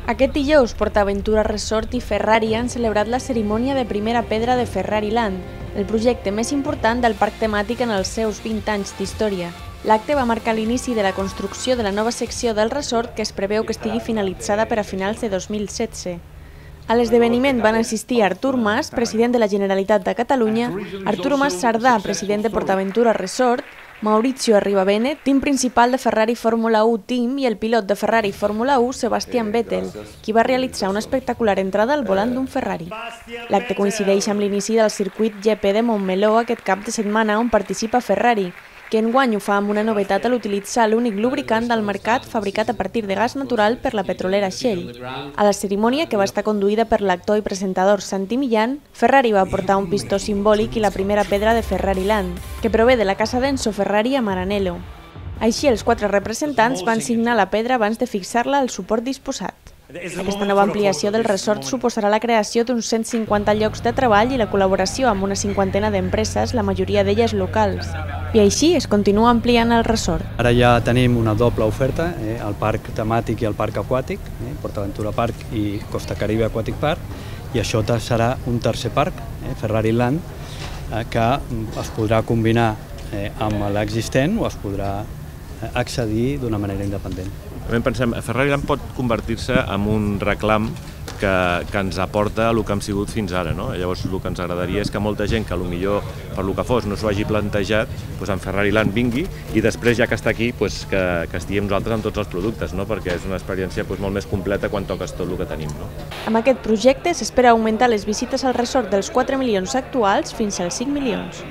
Aquest dijous, PortAventura Resort i Ferrari han celebrat la cerimònia de primera pedra de Ferrari Land, el projecte més important del parc temàtic en els seus 20 anys d'història. L'acte va marcar l'inici de la construcció de la nova secció del resort que es preveu que estigui finalitzada per a finals de 2016. A l'esdeveniment van assistir Artur Mas, president de la Generalitat de Catalunya, Arturo Mas Sardà, president de PortAventura Resort, Maurizio Arribabene, team principal de Ferrari Fórmula 1 Team, i el pilot de Ferrari Fórmula 1, Sebastian Vettel, qui va realitzar una espectacular entrada al volant d'un Ferrari. L'acte coincideix amb l'inici del circuit GP de Montmeló aquest cap de setmana on participa Ferrari, que enguany ho fa amb una novetat a l'utilitzar l'únic lubricant del mercat fabricat a partir de gas natural per la petrolera Shell. A la cerimònia, que va estar conduïda per l'actor i presentador Santi Millán, Ferrari va portar un pistó simbòlic i la primera pedra de Ferrari Land, que prové de la casa d'Enzo Ferrari a Maranello. Així, els 4 representants van signar la pedra abans de fixar-la al suport disposat. Aquesta nova ampliació del resort suposarà la creació d'uns 150 llocs de treball i la col·laboració amb una 50ena d'empreses, la majoria d'elles locals. I així es continua ampliant el resort. Ara ja tenim una doble oferta, el parc temàtic i el parc aquàtic, PortAventura Park i Costa Caribe Aquatic Park, i això serà un tercer parc, Ferrari Land, que es podrà combinar amb l'existent o es podrà accedir d'una manera independent. També pensem que Ferrari Land pot convertir-se en un reclam que ens aporta el que hem sigut fins ara. Llavors el que ens agradaria és que molta gent que potser per el que fos no s'ho hagi plantejat, en Ferrari Land vingui i després, ja que està aquí, que estiguem nosaltres amb tots els productes, perquè és una experiència molt més completa quan toques tot el que tenim. Amb aquest projecte s'espera augmentar les visites al resort dels 4 milions actuals fins als 5 milions.